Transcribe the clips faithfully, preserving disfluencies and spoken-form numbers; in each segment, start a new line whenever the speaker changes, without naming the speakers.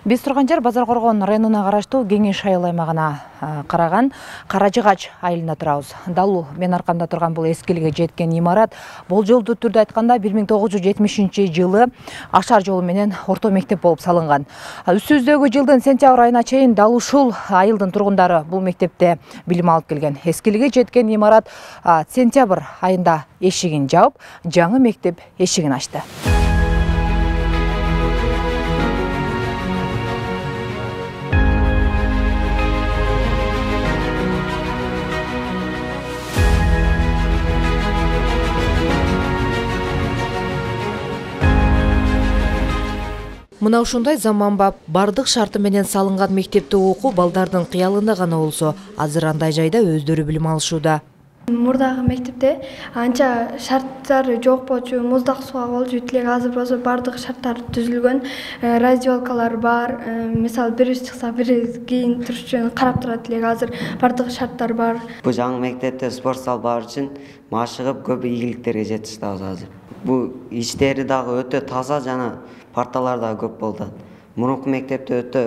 Биз турган жер Базар Коргон районуна караштуу Кеңеш айыл аймагына караган Каражыгач айылында турабыз. Дал мен аркамда турган бул эскилиге жеткен имарат болжолдуу түрдө айтканда бир миң тогуз жүз жетимишинчи жылы Ашар жолу менен орто мектеп болуп салынган. Үстүбүздөгү жылдын сентябрь айына чейин дал ушул айылдын тургундары бул мектепте билим алып келген. Эскилиге жеткен имарат сентябрь айында эшигин жаап, жаңы мектеп эшигин ачты. Мына ушундай заманбап, бардык шарты менен салынган мектепте окуу балдардын кыялында гана болсо, азыр андай жайда өздөрү билим алышууда.
Мурдагы мектепте анча шарттары жок болчу, муздак сууга болчу, тилек азыр болсо бардык шарттар түзүлгөн, раздевалкалар бар, мисалы бириз чыкса бириз кийин туруш үчүн карап турат элек, азыр бардык шарттар бар.
Бул жаңы мектепте спорт зал бар үчүн машыгып көп ийгиликтерге жетиштабыз азыр. Бул иштери дагы өтө таза жана парталар да көп болду. Мурунку мектепте өтө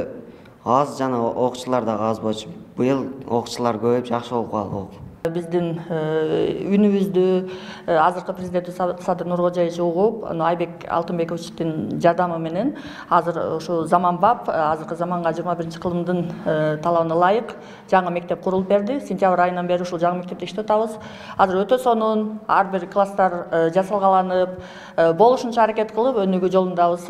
аз жана окуучулар да аз болчу. Быйыл окуучулар көбөйүп жакшы болуп калды.
Биздин үнүбүздү азыркы президент Садыр Нуркожоевич угуп, Айбек Алтынбековичтин жардамы менен азыр ушу заманбап, азыркы заманга жыйырма биринчи кылымдын талабына ылайык жаңы мектеп курулуп берди. Сентябрь айынан бери ушул жаңы мектепте иштеп атабыз. Азыр өтө сонун, ар бир класстар жасалгаланып, болушунча аракет кылып өнүгүү жолундабыз.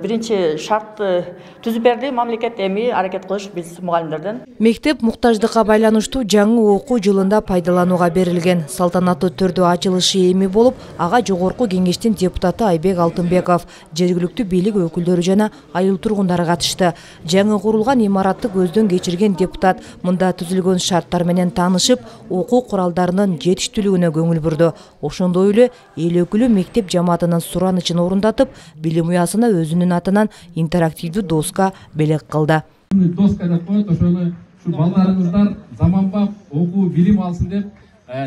Биринчи шартты түзүп берди мамлекет, эми аракет кылыш биз мугалимдерден.
Мектеп муктаждыкка байланыштуу жаңы окуу жылында пайдаланууга берилген. Салтанаттуу түрдө ачылышы эми болуп, ага жогорку кеңештин депутаты Айбек Алтынбеков, жергиликтүү бийлик өкүлдөрү жана айыл тургундары катышты. Жаңы курулган имаратты көздөн кечирген депутат мында түзүлгөн шарттар менен таанышып, окуу куралдарынын жетиштүүлүгүнө көңүл бурду. Ошондой эле эл өкүлү мектеп жамаатынын суранычын орундатып, билим уясына өзүнүн атынан интерактивдүү доска белек кылды.
Доска деп коет, ошону балдарыңыздар заманбап окуу билим алсын деп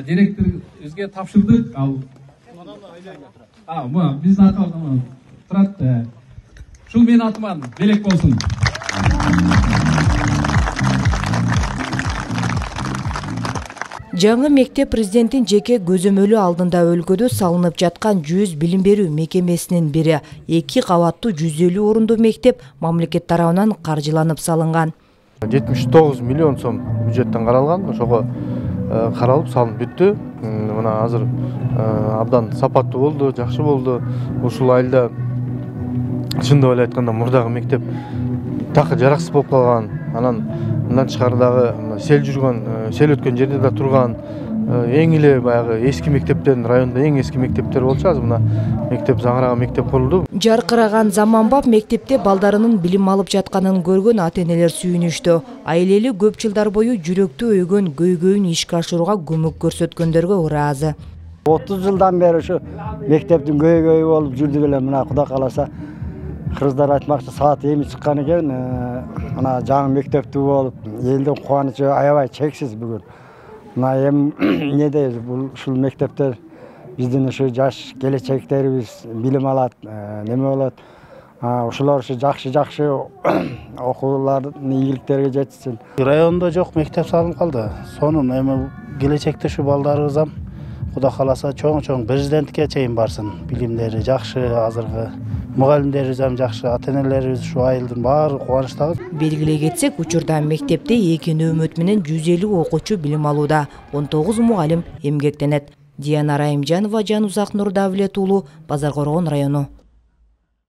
директорубузга тапшырдык. Ал А, мына биздин атыбыздан турат. Ушул менин атыман белек болсун.
Жаңы мектеп президенттин жеке көзөмөлү алдында өлкөдө салынып жаткан жүз билим берүү мекемесинин бири. Эки кабаттуу жүз элүү орундуу мектеп мамлекет тарабынан каржыланып салынган.
жетимиш тогуз миллион сом бюджеттен каралган, ошого каралып салынып бүттү. Мына азыр абдан сапаттуу болду, жакшы болду. Ушул айылда чындап эле айтканда мурдагы мектеп такы жараксыз болуп калган. Анан мындан тышкары дагы сел жүргөн, сел өткөн жерде да турган эң эле баягы эски мектептен, районда эң эски мектептер болчу. Азыр мына мектеп заңыраган мектеп курулду.
Жаркыраган заманбап мектепте балдарынын билим алып жатканын көргөн ата-энелер сүйүнүштү. Айлели көп жылдар бою жүрөктү өйгөн көйгөйүн ишке ашырууга көмөк көрсөткөндөргө ыраазы.
отуз жылдан бери ушу мектептин көйгөйү болуп жүрдүк эле. Мына Кудай кааласа кыргыздар айтмакчы саат эми чыккан экен. Мына жаңы мектептүү болуп, элдин кубанычы аябай чексиз бүгүн. Мына эми эмне дейбиз, бул ушул мектептер биздин ушу жаш келечектерибиз билим алат, неме болот. Ушулар ушу жакшы-жакшы окуулардын ийгиликтерге жетишсин.
Районда жок мектеп салынып калды. Сонун эми келечекте ушу балдарыбызам Кудай кааласа чоң-чоң президентке чейин барсын. Билимдери жакшы, азыркы мугалимдерибиз ham жакшы, ата-энелерибиз ушу айылдын баары кубанычтабыз.
Белгилей кетсек, учурда мектепте эки нөөмөт менен жүз элүү окуучу билим алууда, он тогуз мугалим эмгектенет. Диана Райымжанова, Жанузак Нурдавлет уулу, Базар Коргон району.